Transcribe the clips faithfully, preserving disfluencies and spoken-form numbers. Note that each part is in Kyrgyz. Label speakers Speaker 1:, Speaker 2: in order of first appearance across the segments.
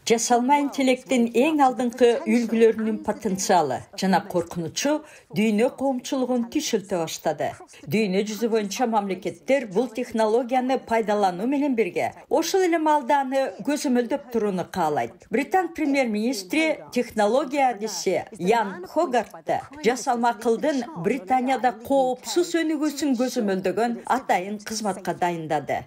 Speaker 1: Жасалма интеллекттин эң алдыңкы үлгүлөрүнүн потенциалы жана коркунучу дүйнө коомчулугун түйшөлтө баштады. Дүйнө жүзү боюнча мамлекеттер бул технологияны пайдалануу менен бирге ошол эле маалда аны көзөмөлдөп турууну каалайт. Британ премьер-министри технология адиси Ян Хогартты жасалма акылдын Британияда коопсуз өнүгүүсүн көзөмөлдөгөн атайын кызматка дайындады.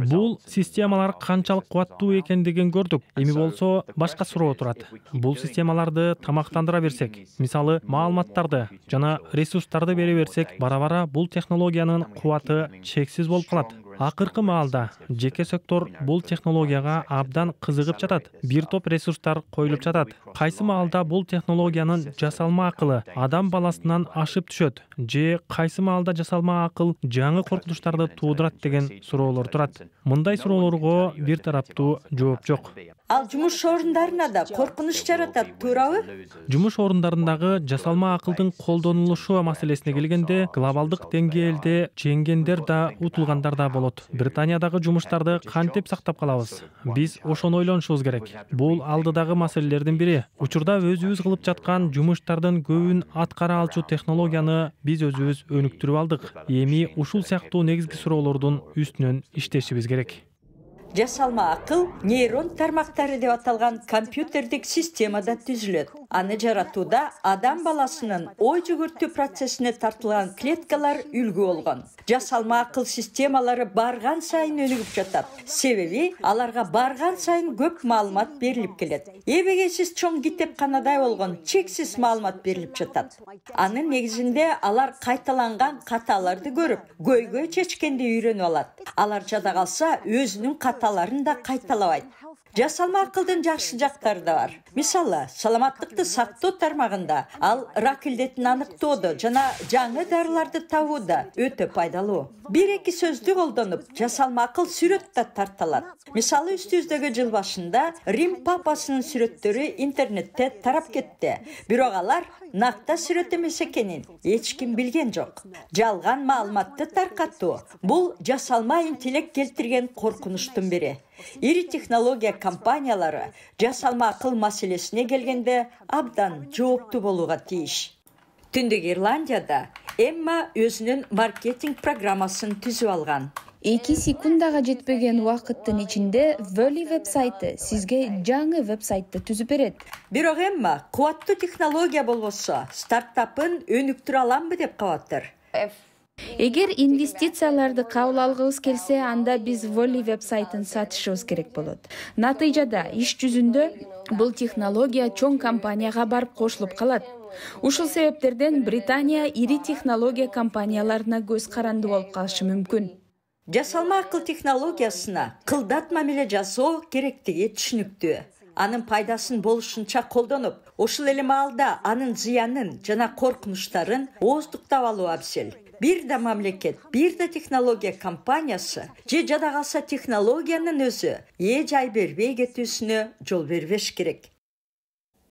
Speaker 2: Бул системалар канчалык кубаттуу экендигин көрдүк. Эми болсо башка суроо турат. Бул системаларды тамактандыра берсек, мисалы маалыматтарды жана ресурстарды бере берсек, бара-бара бул технологиянын кубаты чексиз болуп калат. Акыркы маалда жеке сектор бул технологияга абдан кызыгып жатат. Бир топ ресурстар коюлуп жатат. Кайсы маалда бул технологиянын жасалма акылы адам баласынан ашып түшөт, же кайсы маалда жасалма акыл жаңы коркунучтарды туудурат деген суроолор турат. Мындай суроолорго бир тараптуу жооп жок.
Speaker 1: Ал жумуш орундарына да коркунуч жаратат, туурабы?
Speaker 2: Жумуш орундарындагы жасалма акылдын колдонулушу маселесине келгенде, глобалдык деңгээлде жеңгендер да, утулгандар да болот. Британиядагы жумуштарды кантип сактап калабыз? Биз ошону ойлонушубуз керек. Бул алдыдагы маселелердин бири. Учурда өзүбүз кылып жаткан жумуштардын көбүн аткара алчу технологияны биз өзүбүз өнүктүрүп алдык. Эми ушул сыяктуу негизги суроолордун үстүнөн иштешибиз керек.
Speaker 1: Жасалма акыл нейрон тармактары деп аталган компьютердик системада түзүлөт. Аны жаратууда адам баласынын ой жүгүртүү процессине тартылган клеткалар үлгү болгон. Жасалма акыл системалары барган сайын өнүгүп жатат. Себеби аларга барган сайын көп маалымат берилип келет. Эбегейсиз чоң китепканада болгон чексиз маалымат берилип жатат. Анын негизинде алар кайталанган каталарды көрүп, көйгөй чечкенди үйрөнүп алат. Алар жада калса өзүнүн каталарын да кайталабайт. Жасалма акылдын жакшы жактары да бар. Мисалы, саламаттыкты сактоо тармагында ал рак илдетин аныктоодо жана жаңы дарыларды табууда өтө пайдалуу. Бир-эки сөздү колдонуп, жасалма акыл сүрөт да тарталат. Мисалы, үстүбүздөгү жыл башында Рим папасынын сүрөттөрү интернетте тарап кетти. Бирок алар накта сүрөт эмес экенин эч ким билген жок. Жалган маалыматты таркатуу бул жасалма интеллект келтирген коркунучтун бири. Ири технология компаниялары жасалма акыл маселесине келгенде абдан жооптуу болууга тийиш. Түндүк Ирландияда Эмма өзүнүн маркетинг программасын түзүп алган.
Speaker 3: эки секундага жетпеген убакыттын ичинде Volley вебсайты сизге жаңы вебсайтты түзүп берет.
Speaker 1: Бирок Эмма кубаттуу технология болбосо стартапын өнүктүрө аламбы деп кабаттыр.
Speaker 3: Эгер инвестицияларды кабыл алгыбыз келсе, анда биз Volley вебсайтын сатышыбыз керек болот. Натыйжада иш жүзүндө бул технология чоң компанияга барып кошулуп калат. Ушул себептерден Британия ири технология компанияларына көз каранды болуп калышы мүмкүн.
Speaker 1: Жасалма акыл технологиясына кылдат мамиле жасоо керектиги түшүнүктүү. Анын пайдасын болушунча колдонуп, ошол эле маалда анын зыянын жана коркунучтарын ооздуктап алуу абзел. Бир да мамлекет, бир да технология компаниясы же жада калса технологиянын өзү ээ жай бербей кетүүсүнө жол бербеш керек.